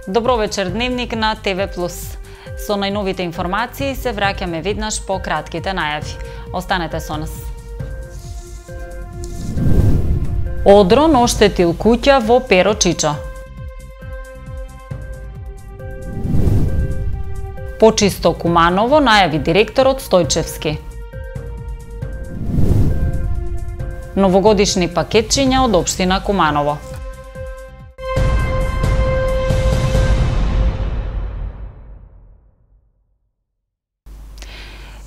Добро вечер, Дневник на ТВ+. Со најновите информации се враќаме веднаш по кратките најави. Останете со нас. Одрон оштетил куќа во Перочичо. Почисто Куманово, најави директорот Стојчевски. Новогодишни пакетчиња од општина Куманово.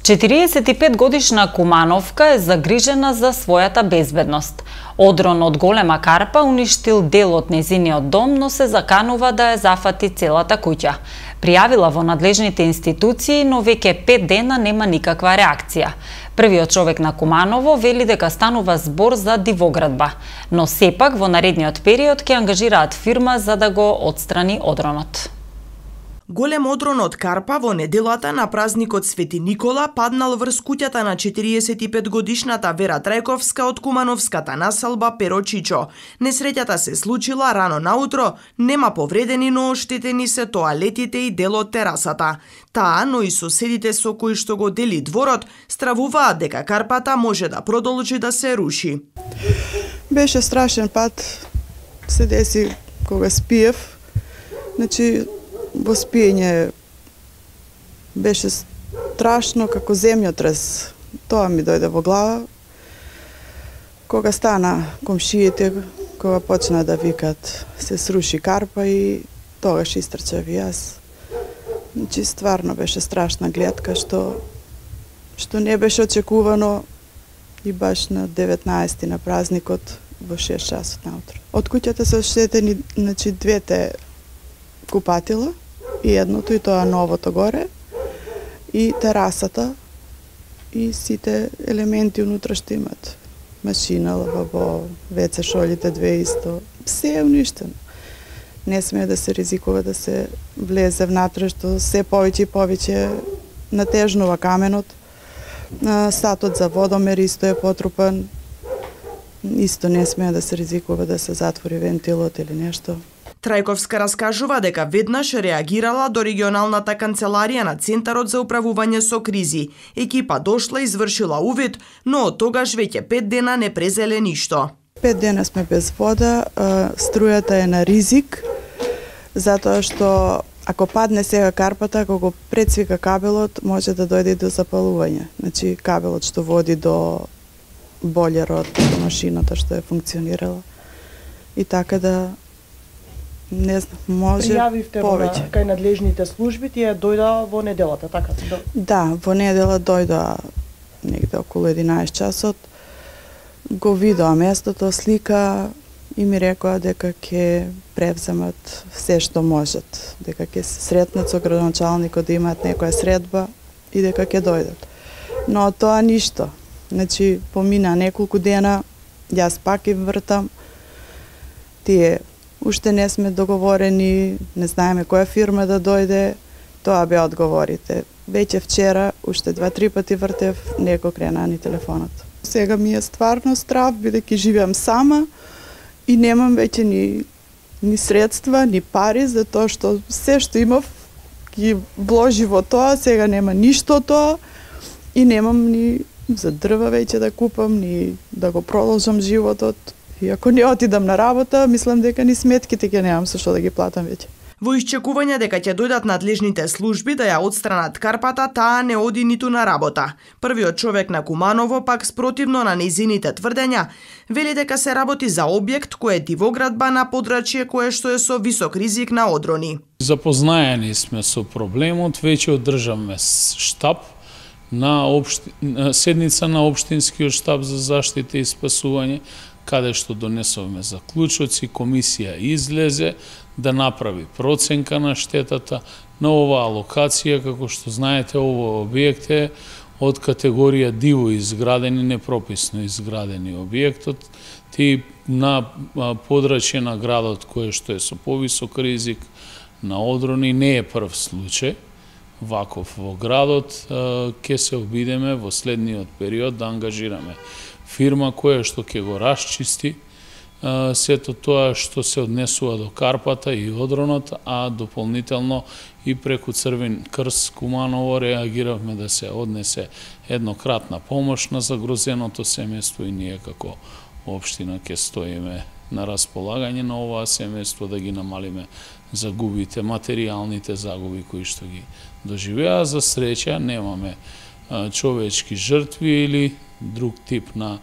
45-годишна Кумановка е загрижена за својата безбедност. Одрон од голема карпа уништил дел од незиниот дом, но се заканува да ја зафати целата куќа. Пријавила во надлежните институции, но веќе 5 дена нема никаква реакција. Првиот човек на Куманово вели дека станува збор за дивоградба, но сепак во наредниот период ќе ангажираат фирма за да го отстрани одронот. Голем одрон од карпа во неделата на празникот Свети Никола паднал врз куќата на 45-годишната Вера Трајковска од кумановската населба Перочичо. Несреќата се случила рано наутро, нема повредени, но оштетени се тоалетите и дел од терасата. Таа, но и соседите со кои што го дели дворот, стравуваат дека карпата може да продолжи да се руши. Беше страшен пат, се деси кога спиев, во спиење беше страшно како земјотрес. Тоа ми дојде во глава. Кога стана комшиите, кога почна да викат се сруши карпа и тогаш истрчав и јас. Стварно беше страшна гледка што не беше очекувано и баш на 19 на празникот во 6 часот наутро. Од куќата се оштетени двете купатила, и едното и тоа новото горе, и терасата, и сите елементи унутра што имат. Машина, лавабо, WC шолите, две исто. Се е уништено. Не смее да се ризикува да се влезе внатре, што се повеќе и повеќе натежнува каменот. Сатот за водомер исто е потрупан. Исто не смее да се ризикува да се затвори вентилот или нешто. Трајковска раскажува дека веднаш реагирала до регионалната канцеларија на Центарот за управување со кризи. Екипа дошла и извршила увид, но од тогаш веќе 5 дена не презеле ништо. 5 дена сме без вода, струјата е на ризик, затоа што ако падне сега карпата, ако го прецвика кабелот, може да дојде до запалување. Кабелот што води до бољерот, до машината што е функционирала. И така да не знам, може пријавивте повеќе. Кај надлежните служби, тие дојда во неделата, така? Да, во недела дојда негде околу 11 часот. Го видоа местото, слика и ми рекоа дека ќе превземат се што можат, дека ќе се сретнат со градоначалникот да имаат некоја средба и дека ќе дојдат. Но тоа ништо. Помина неколку дена, јас пак и вртам. Тие уште не сме договорени, не знаеме која фирма да дојде, тоа беа одговорите. Веќе вчера, уште 2-3 пати вртев, некој крена ни телефонот. Сега ми е стварно страв, бидејќи живеам сама и немам веќе ни средства, ни пари, затоа што се што имав ги вложи во тоа, сега нема ништо тоа и немам ни за дрва веќе да купам, ни да го продолжам животот. И ако не отидам на работа, мислам дека ни сметките ќе немам со што да ги платам веќе. Во исчекување дека ќе дојдат надлежните служби да ја отстранат карпата, таа не оди ниту на работа. Првиот човек на Куманово, пак спротивно на нејзините тврдења, вели дека се работи за објект кој е дивоградба на подрачје кое што е со висок ризик на одрони. Запознаени сме со проблемот, веќе одржавме штаб на седница на општинскиот штаб за заштита и спасување, каде што донесовме заклучоци, комисија излезе да направи проценка на штетата на оваа локација. Како што знаете, овој објект е од категорија диво изградени, непрописно изградени објектот, ти на подрачје на градот кое што е со повисок ризик на одрони, не е прв случај ваков во градот. Ќе се обидеме во следниот период да ангажираме фирма која што ќе го расчисти сето тоа што се однесува до Карпата и Одронот, а дополнително и преку Црвен крст Куманово реагиравме да се однесе еднократна помош на загрозеното семејство и ние како општина ќе стоиме на располагање на оваа семејство да ги намалиме загубите, материјалните загуби кои што ги доживеа. За среќа немаме човечки жртви или друг тип на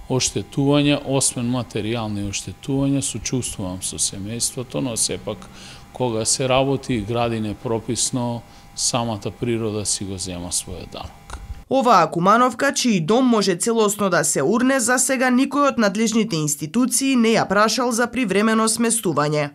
оштетување, освен материјални оштетувања. Сочувствувам со семејството, но сепак кога се работи и гради непрописно, самата природа си го зема својот данок. Оваа Кумановка, чиј дом може целосно да се урне, за сега никој од надлежните институции не ја прашал за привремено сместување.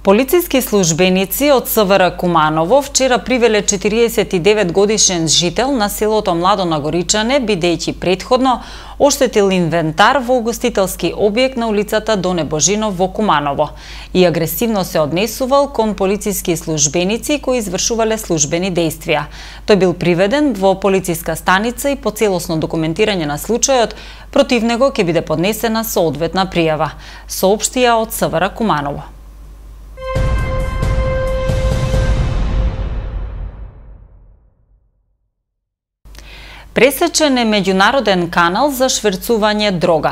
Полициски службеници од СВР Куманово вчера привеле 49 годишен жител на селото Младо Нагоричане, бидејќи претходно оштетил инвентар во угостителски објект на улицата Доне Божинов во Куманово и агресивно се однесувал кон полициски службеници кои извршувале службени дејствија. Тој бил приведен во полициска станица и по целосно документирање на случајот против него ќе биде поднесена соодветна пријава, соопштија од СВР Куманово. Пресечен е меѓународен канал за шверцување дрога.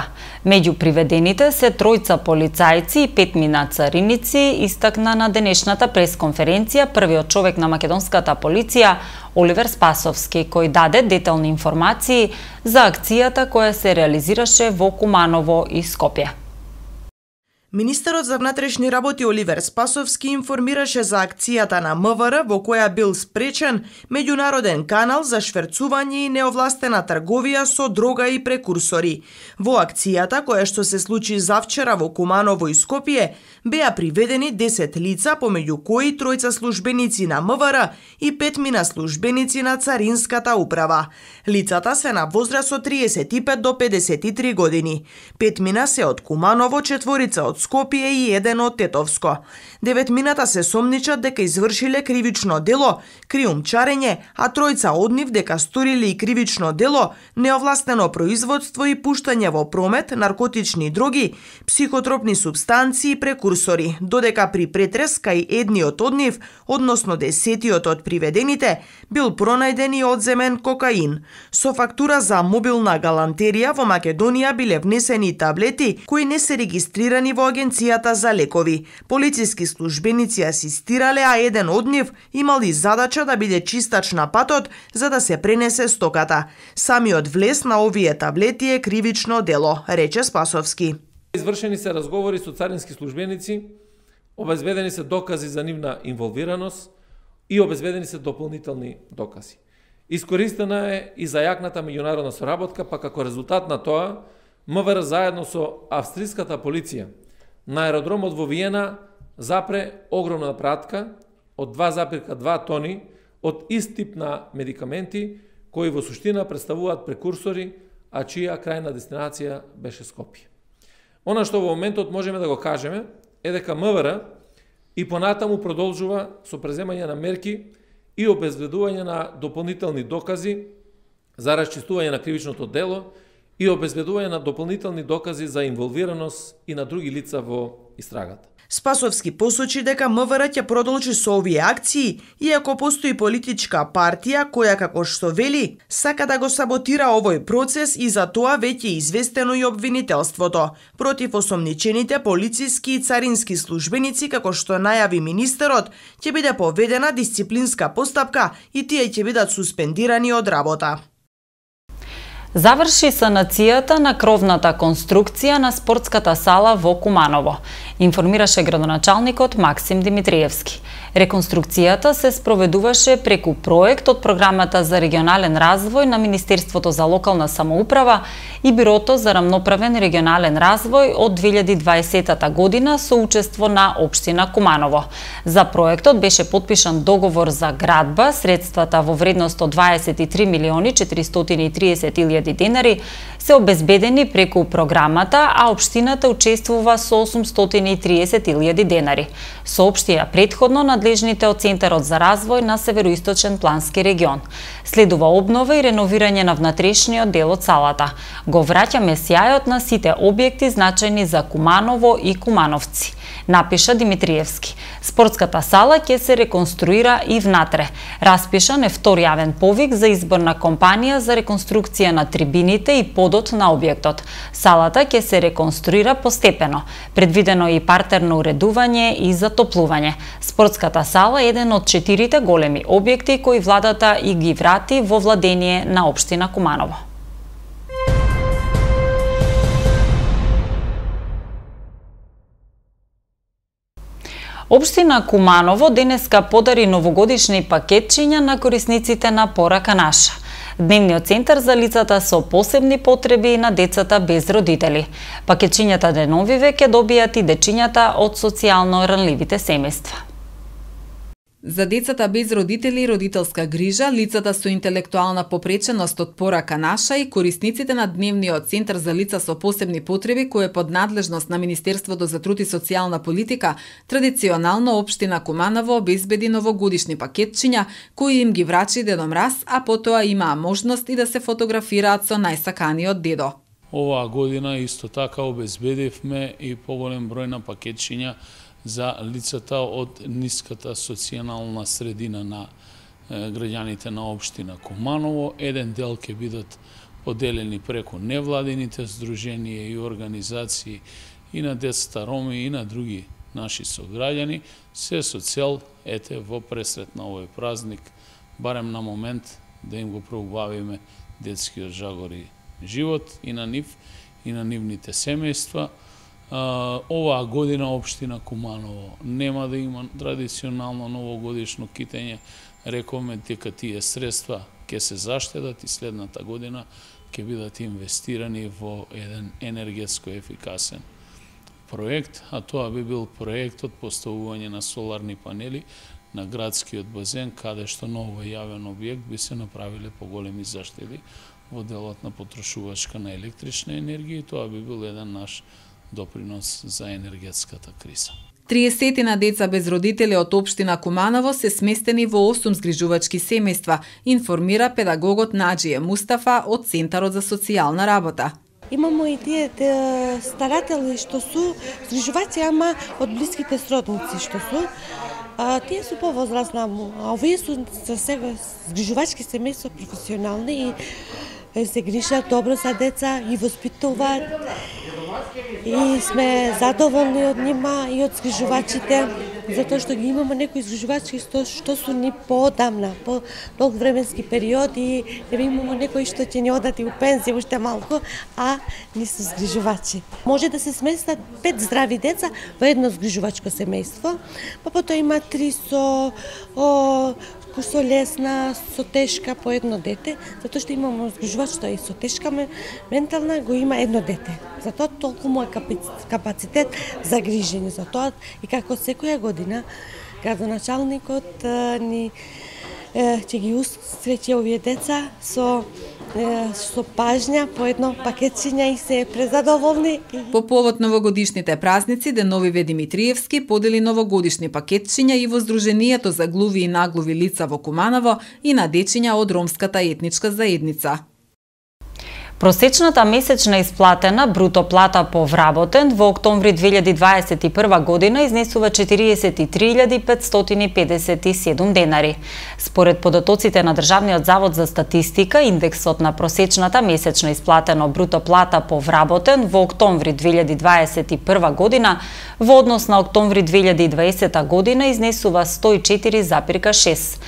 Меѓу приведените се тројца полицајци и 5 цариници, истакна на денешната пресконференција првиот човек на македонската полиција Оливер Спасовски, кој даде детални информации за акцијата која се реализираше во Куманово и Скопје. Министерот за внатрешни работи Оливер Спасовски информираше за акцијата на МВР во која бил спречен меѓународен канал за шверцување и неовластена трговија со дрога и прекурсори. Во акцијата, која што се случи завчера во Куманово и Скопје, беа приведени 10 лица, помеѓу кои тројца службеници на МВР и 5 службеници на Царинската управа. Лицата се на возраст од 35 до 53 години. 5 се од Куманово, 4 од Скопје и 1 од Тетовско. 9 се сомничат дека извршиле кривично дело, криумчарење, а тројца од нив дека сториле и кривично дело, неовластено производство и пуштање во промет, наркотични дроги, психотропни супстанции и прекурсори, додека при претрес кај едниот од нив, односно 10-тиот од приведените, бил пронајден и одземен кокаин. Со фактура за мобилна галантерија во Македонија биле внесени таблети кои не се регистрирани во Агенцијата за лекови. Полициски службеници асистирале, а еден од нив имал и задача да биде чистач на патот за да се пренесе стоката. Самиот влез на овие таблети е кривично дело, рече Спасовски. Извршени се разговори со царински службеници, обезбедени се докази за нивна инволвираност и обезбедени се дополнителни докази. Искористена е и зајакната меѓународна соработка, па како резултат на тоа, МВР заедно со австриската полиција на аеродромот во Виена запре огромна пратка од 2,2 тони од ист тип на медикаменти кои во суштина представуваат прекурсори, а чија крајна дестинација беше Скопје. Она што во моментот можеме да го кажеме е дека МВР и понатаму продолжува со преземање на мерки и обезбедување на дополнителни докази за расчистување на кривичното дело и обезбедување на дополнителни докази за инволвираност и на други лица во истрагата. Спасовски посочи дека МВР ќе продолжи со овие акции, иако постои политичка партија која, како што вели, сака да го саботира овој процес и за тоа веќе е известено и обвинителството против осомничените полициски и царински службеници, како што најави министерот, ќе биде поведена дисциплинска постапка и тие ќе бидат суспендирани од работа. Заврши санацијата на кровната конструкција на спортската сала во Куманово, информираше градоначалникот Максим Димитриевски. Реконструкцијата се спроведуваше преку проект од Програмата за регионален развој на Министерството за локална самоуправа и Бирото за рамноправен регионален развој од 2020 година со учество на општина Куманово. За проектот беше потпишан договор за градба, средствата во вредност од 23.430.000 денари се обезбедени преку програмата, а општината учествува со 830.000 денари. Соопштија претходно надлежните надлежните од Центарот за развој на Североисточен плански регион. Следува обнова и реновирање на внатрешниот дел од салата. Го враќаме сјајот на сите објекти значајни за Куманово и кумановци, напиша Димитриевски. Спортската сала ќе се реконструира и внатре. Распишан е втор јавен повик за избор на компанија за реконструкција на трибините и подот на објектот. Салата ќе се реконструира постепено. Предвидено е и партерно уредување и затоплување. Спортската сала е еден од 4 големи објекти кои владата и ги врати во владение на општина Куманово. Општина Куманово денеска подари новогодишни пакетчиња на корисниците на Порака наша, дневниот центар за лицата со посебни потреби и на децата без родители. Пакетчињата деновиве ќе добијат и дечињата од социјално ранливите семејства. За децата без родители и родителска грижа, лицата со интелектуална попреченост од Порака наша и корисниците на дневниот центар за лица со посебни потреби, кој е под надлежност на Министерството за труд и социјална политика, традиционално општина Куманово обезбеди новогодишни пакетчиња кои им ги врачи Дедо Мраз, а потоа имаа можност и да се фотографираат со најсаканиот дедо. Оваа година исто така обезбедивме и поголем број на пакетчиња за лицата од ниската социјална средина на граѓаните на општина Куманово. Еден дел ќе бидат поделени преку невладините здруженија и организации и на децата роми и на други наши сограѓани, се со цел во пресрет на овој празник, барем на момент да им го проубавиме детскиот жагор и живот и на нив и на нивните семејства. Оваа година општина Куманово нема да има традиционално новогодишно китење. Рековме дека тие средства ќе се заштедат и следната година ќе бидат инвестирани во еден енергетско ефикасен проект, а тоа би бил проектот поставување на соларни панели на градскиот базен, каде што на овој јавен објект би се направиле поголеми заштеди во делот на потрошувачка на електрична енергија и тоа би бил еден наш допринос за енергетската криза. 30 на деца без родители од општина Куманово се сместени во 8 згрижувачки семејства, информира педагогот Наџие Мустафа од Центарот за социјална работа. Имамо и тие старатели што су згрижувачи, ама од блиските сродници што су. Тие су повозрастна, а овие су за сега згрижувачки семејства професионални и се грижат добро за деца и воспитуваат. И сме задоволни од нима и од згрижувачите, затоа што ги имаме некои згрижувачки што су ни поодамна, по долг временски период и имаме некои што ќе ни одат и у пензија уште малку, а ни се згрижувачи. Може да се сместат 5 здрави деца во едно згрижувачко семејство, па потоа има 3 со лесна, со тешка по едно дете, затоа што имаме згрижувач што и со тешка ментална го има едно дете. Затоа толку му е капацитет за грижење. Затоа и како секоја година градоначалникот ни ќе ги усреќи овие деца со пажња по едно пакетчиња и се презадоволни. По повод новогодишните празници, Деновиве Димитриевски подели новогодишни пакетчиња и во Здруженијето за глуви и наглуви лица во Куманово и на дечиња од ромската етничка заедница. Просечната месечна исплатена бруто плата по вработен во октомври 2021 година изнесува 43.557 денари. Според податоците на Државниот завод за статистика, индексот на просечната месечна исплатена бруто плата по вработен во октомври 2021 година во однос на октомври 2020 година изнесува 104,6.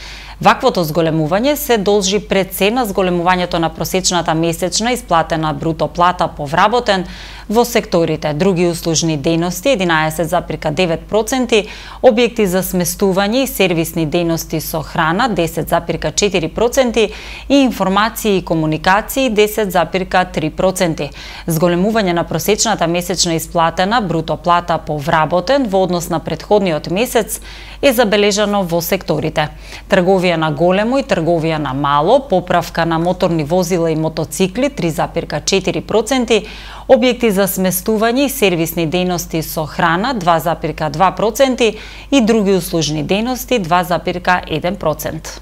Ваквото зголемување се должи пред се на зголемувањето на просечната месечна исплатена бруто плата по вработен во секторите други услужни дејности 11,9%, објекти за сместување и сервисни дејности со храна 10,4% и информации и комуникации 10,3%. Зголемување на просечната месечна исплатена бруто плата по вработен во однос на претходниот месец е забележано во секторите трговија трговија на големо и трговија на мало, поправка на моторни возила и мотоцикли 3,4%, објекти за сместување и сервисни дејности со храна 2,2% и други услужни дејности 2,1%.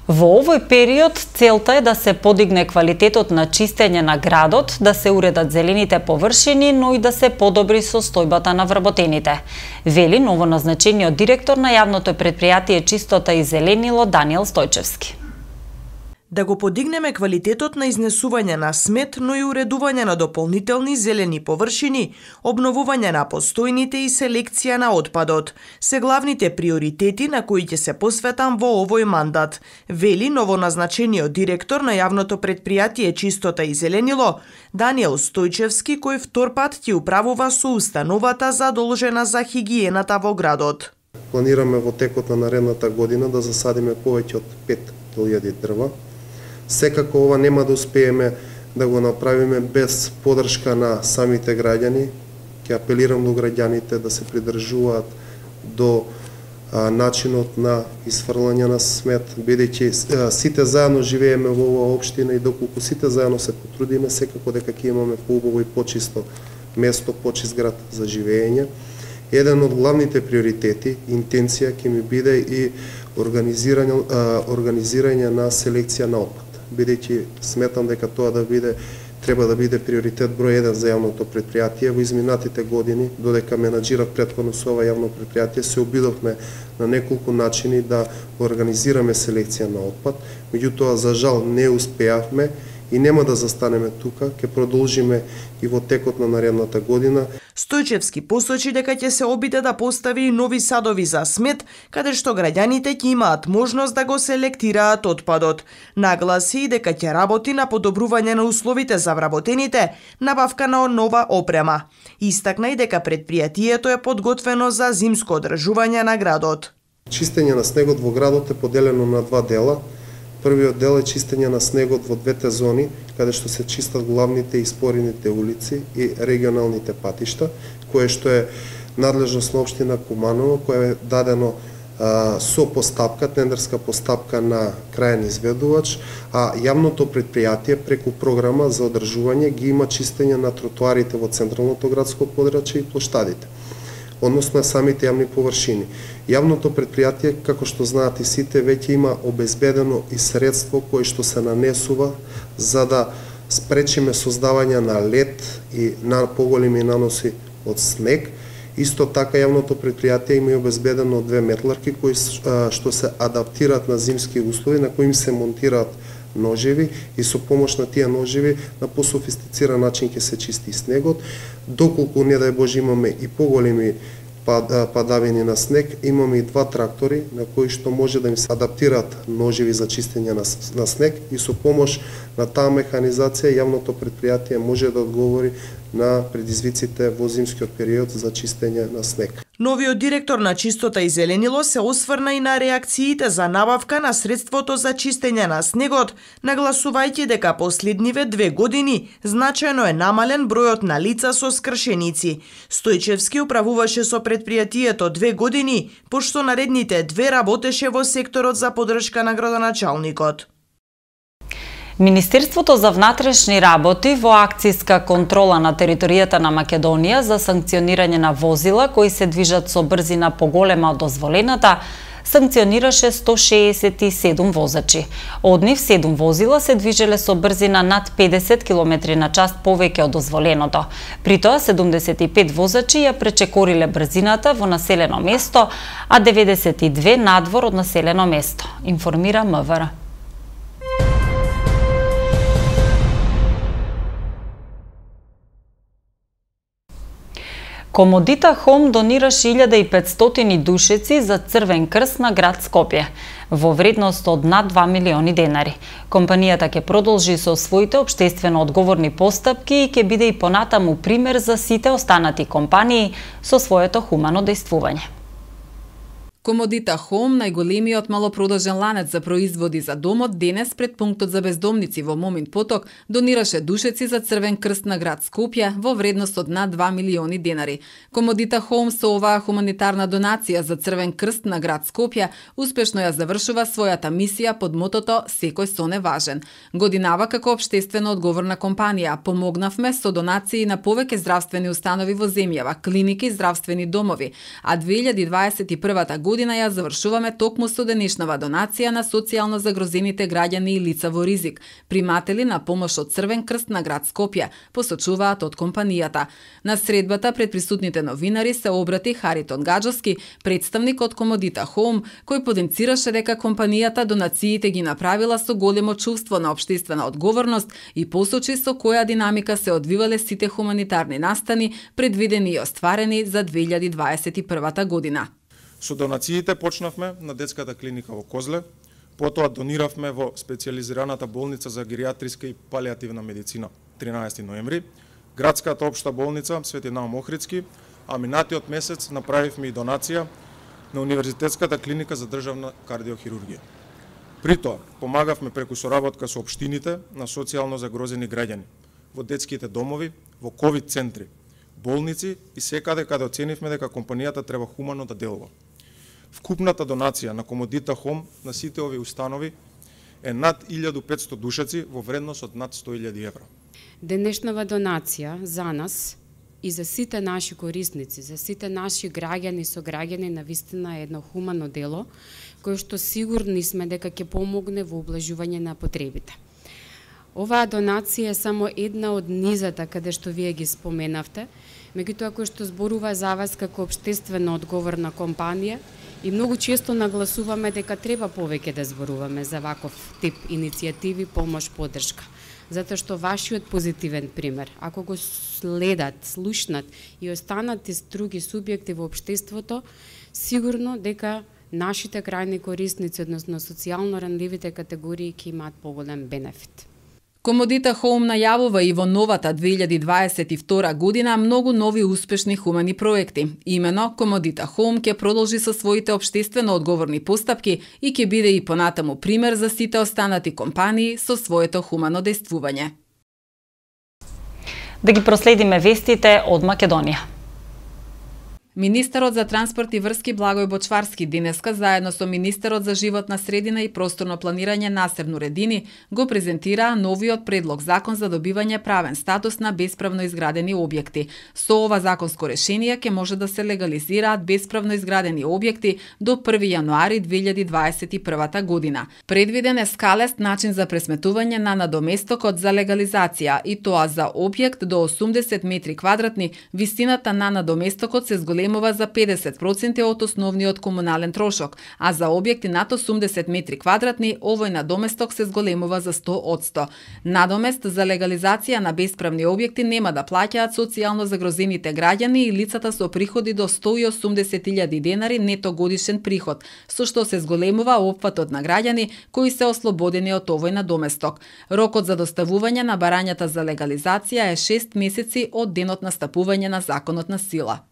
Во овој период целта е да се подигне квалитетот на чистење на градот, да се уредат зелените површини, но и да се подобри состојбата на вработените, вели новоназначениот директор на јавното претпријатие Чистота и зеленило Даниел Стојчевски. Да го подигнеме квалитетот на изнесување на смет, но и уредување на дополнителни зелени површини, обновување на постојните и селекција на отпадот, се главните приоритети на кои ќе се посветам во овој мандат, вели новоназначениот директор на јавното претпријатие Чистота и зеленило Даниел Стојчевски, кој втор пат ќе управува со установата задолжена за хигиената во градот. Планираме во текот на наредната година да засадиме повеќе од 5000 дрва. Секако ова нема да успееме да го направиме без поддршка на самите граѓани. Ќе апелирам до граѓаните да се придржуваат до начинот на изфрлање на смет, бидејќи сите заедно живееме во оваа општина и доколку сите заедно се потрудиме, секако дека ќе имаме поубаво и почисто место, почист град за живење. Еден од главните приоритети, интенција ќе ми биде и организирање на селекција на отпад, бидејќи сметам дека тоа треба да биде приоритет број 1 за јавното претпријатие. Во изминатите години, додека менаџирав претходно со ова јавно претпријатие, се обидовме на неколку начини да организираме селекција на отпад, меѓутоа за жал не успеавме и нема да застанеме тука, ќе продолжиме и во текот на наредната година. Стојчевски посочи дека ќе се обиде да постави и нови садови за смет, каде што граѓаните ќе имаат можност да го селектираат отпадот. Нагласи и дека ќе работи на подобрување на условите за вработените, набавка на нова опрема. Истакна и дека претпријатието е подготвено за зимско одржување на градот. Чистење на снегот во градот е поделено на два дела. Првиот дел е чистење на снегот во двете зони, каде што се чистат главните и спорените улици и регионалните патишта, кое што е надлежност на општина Куманово, кое е дадено со постапка, тендерска постапка на крајен изведувач, а јавното претпријатие преку програма за одржување ги има чистење на тротоарите во централното градско подрачје и плоштадите, односно самите јавни површини. Јавното претпријатие, како што знаат и сите, веќе има обезбедено и средство кое што се нанесува за да спречиме создавање на лед и на поголеми наноси од снег. Исто така јавното претпријатие има и обезбедено 2 метларки кои што се адаптираат на зимски услови, на кои им се монтираат ножеви и со помош на тие ножеви на пософистициран начин ќе се чисти снегот. Доколку не дај Боже имаме и поголеми падавини на снег, имаме и 2 трактори на кои што може да им се адаптираат ножеви за чистење на снег и со помош на таа механизација јавното претпријатие може да одговори на предизвиците во зимскиот период за чистење на снег. Новиот директор на Чистота и зеленило се осврна и на реакциите за набавка на средството за чистење на снегот, нагласувајќи дека последниве 2 години значајно е намален бројот на лица со скршеници. Стојчевски управуваше со претпријатието 2 години, пошто наредните 2 работеше во секторот за поддршка на градоначалникот. Министерството за внатрешни работи во акцијска контрола на територијата на Македонија за санкционирање на возила кои се движат со брзина поголема од дозволената, санкционираше 167 возачи. Од нив 7 возила се движеле со брзина над 50 км на час повеќе од дозволеното. При тоа 75 возачи ја пречекориле брзината во населено место, а 92 надвор од населено место, информира МВР. Комодита Хом донираше 1500 душеци за Црвен крст на град Скопје, во вредност од над 2 милиони денари. Компанијата ќе продолжи со своите општествено одговорни постапки и ќе биде и понатаму пример за сите останати компании со своето хумано дејствување. Комодита Home, најголемиот малопродажен ланец за производи за домот, денес пред пунктот за бездомници во Момин Поток донираше душеци за Црвен крст на град Скопје во вредност од над 2 милиони денари. Комодита Home со оваа хуманитарна донација за Црвен крст на град Скопје успешно ја завршува својата мисија под мотото "Секој сон е важен". Годинава како општествено одговорна компанија помогнавме со донации на повеќе здравствени установи во земјава, клиники и здравствени домови, а 2021 година ја завршуваме токму со денешнава донација на социјално загрозените граѓани и лица во ризик, приматели на помош од Црвен крст на град Скопје, посочуваат од компанијата. На средбата пред присутните новинари се обрати Харитон Гаджовски, представник од Комодита Home, кој потенцираше дека компанијата донациите ги направила со големо чувство на општествена одговорност и посочи со која динамика се одвивале сите хуманитарни настани предвидени и остварени за 2021 година. Со донациите почнавме на детската клиника во Козле, потоа дониравме во специјализираната болница за геријатриска и палијативна медицина 13 ноември, градската општа болница Свети Наум Охридски, а минатиот месец направивме и донација на Универзитетската клиника за државна кардиохирургија. При тоа, помагавме преку соработка со општините на социјално загрозени граѓани, во детските домови, во ковид центри, болници и секаде каде оценивме дека компанијата треба хумано да делува. Вкупната донација на Комодита Home на сите овие установи е над 1500 душеци во вредност од над 100.000 евра. Денешнава донација за нас и за сите наши корисници, за сите наши граѓани и сограѓани навистина е едно хумано дело, кој што сигурни сме дека ќе помогне во облажување на потребите. Оваа донација е само една од низата каде што вие ги споменавте, меѓутоа кој што зборува за вас како општествено одговорна компанија и многу често нагласуваме дека треба повеќе да зборуваме за ваков тип иницијативи, помош, поддршка. Затоа што вашиот позитивен пример, ако го следат, слушнат и останат и други субјекти во општеството, сигурно дека нашите крајни корисници, односно социјално ранливите категории, ќе имаат поголем бенефит. Комодита Home најавува и во новата 2022 година многу нови успешни хумани проекти. Имено, Комодита Home ќе продолжи со своите општествено одговорни постапки и ќе биде и понатаму пример за сите останати компании со своето хумано дејствување. Да ги проследиме вестите од Македонија. Министерот за транспорт и врски Благој Бочварски денеска заедно со министерот за животна средина и просторно планирање Насер Нуредини го презентираа новиот предлог закон за добивање правен статус на бесправно изградени објекти. Со ова законско решение ќе може да се легализираат бесправно изградени објекти до 1 јануари 2021 година. Предвиден е скалест начин за пресметување на надоместокот за легализација и тоа за објект до 80 метри квадратни, висината на надоместокот се зголемува за 50% од основниот комунален трошок, а за објекти над 80 метри квадратни овој надоместок се зголемува за 100%. Надомест за легализација на бесправни објекти нема да плаќаат социјално загрозените граѓани и лицата со приходи до 180.000 денари нето годишен приход, со што се зголемува опфатот на граѓани кои се ослободени од овој надоместок. Рокот за доставување на барањата за легализација е 6 месеци од денот на стапување на законот на сила.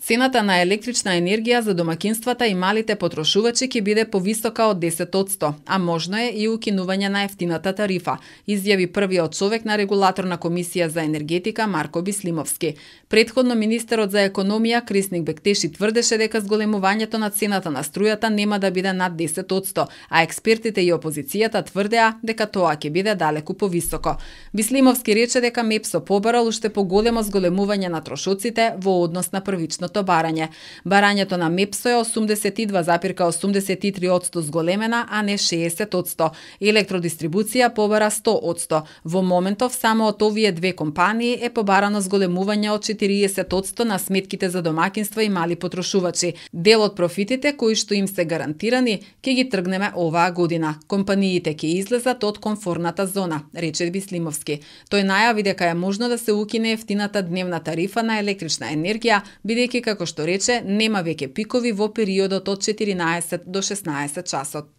Цената на електрична енергија за домакинствата и малите потрошувачи ќе биде повисока од 10%, а можно е и укинување на ефтината тарифа, изјави првиот човек на регулаторна комисија за енергетика Марко Бислимовски. Предходно министерот за економија Крисник Бектеши тврдеше дека зголемувањето на цената на струјата нема да биде над 10%, а експертите и опозицијата тврдеа дека тоа ќе биде далеку повисоко. Бислимовски рече дека МЕПСО побарал уште поголемо зголемување на трошоците во однос на првично барање. Барањето на МЕПСО е 82,83% зголемена, а не 60%. Електродистрибуција побара 100%. Во моментов само од овие две компании е побарано зголемување од 40% на сметките за домакинства и мали потрошувачи. Дел од профитите кои што им се гарантирани ќе ги тргнеме оваа година. Компаниите ќе излезат од комфорната зона, рече Бислимовски. Тој најави дека е можно да се укине ефтината дневна тарифа на електрична енергија, бидејќи како што рече, нема веќе пикови во периодот од 14 до 16 часот.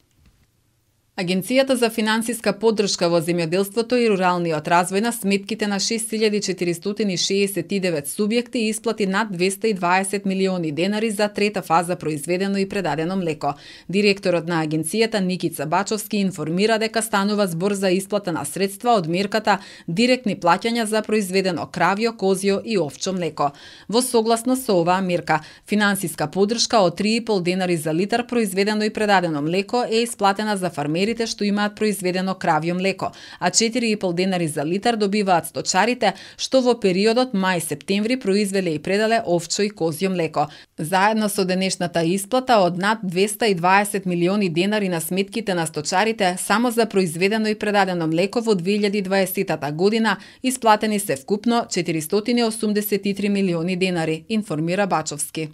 Агенцијата за финансиска поддршка во земјоделството и руралниот развој на сметките на 6469 субјекти исплати над 220 милиони денари за трета фаза произведено и предадено млеко. Директорот на агенцијата Никица Бачовски информира дека станува збор за исплата на средства од мерката директни плаќања за произведено кравјо, козјо и овчо млеко. Во согласно со оваа мерка, финансиска поддршка од 3,5 денари за литар произведено и предадено млеко е исплатена за фармерите што имаат произведено кравјо млеко, а 4,5 денари за литар добиваат сточарите што во периодот мај-септември произвеле и предале овчо и козјо млеко. Заедно со денешната исплата од над 220 милиони денари на сметките на сточарите само за произведено и предадено млеко во 2020 година исплатени се вкупно 483 милиони денари, информира Бачовски.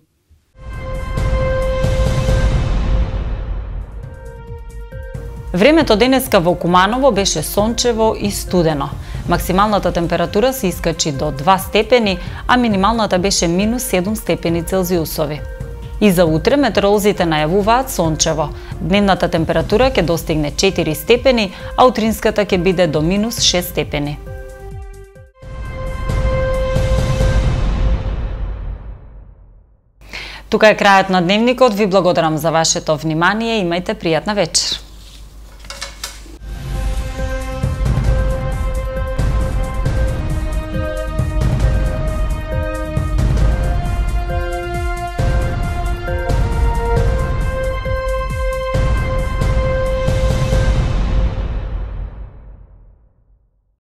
Времето денеска во Куманово беше сончево и студено. Максималната температура се искачи до 2 степени, а минималната беше минус 7 степени Целзиусови. И за утре метеоролозите најавуваат сончево. Дневната температура ќе достигне 4 степени, а утринската ќе биде до минус 6 степени. Тука е крајот на дневникот. Ви благодарам за вашето внимание и имајте пријатна вечер.